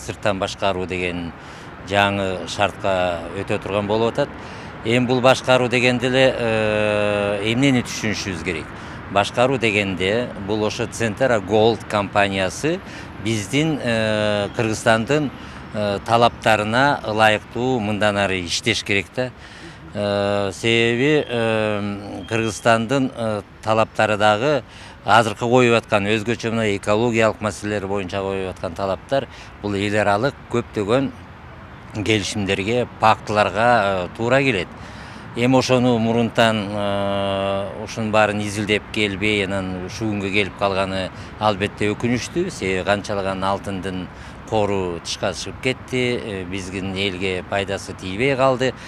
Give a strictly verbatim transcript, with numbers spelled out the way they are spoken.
сырттан башкаруу деген жаңы шартка өтө турган болуп атат. Эми бул башкаруу дегенде эле эмнени түшүнүшүбүз керек? Башкаруу дегенде бул ошо Центра Gold компаниясы биздин Кыргызстандын талаптарына ылайыктуу мындан ары иштеш керек да. Себеби Кыргызстандын талаптары дагы азыркы коюп аткан өзгөчө мына экологиялык маселелер боюнча коюп аткан талаптар бул эл аралык көптөгөн келишимдерге, пактыларга туура келет. Эми ошону мурунтан ушунун баарын изилдеп келбей, анан ушул күнгө келип калганы албетте өкүнүчтүү. Себеби канчалаган алтындын кору тышка чыгып кетти, биздин элге пайдасы тийбей калды.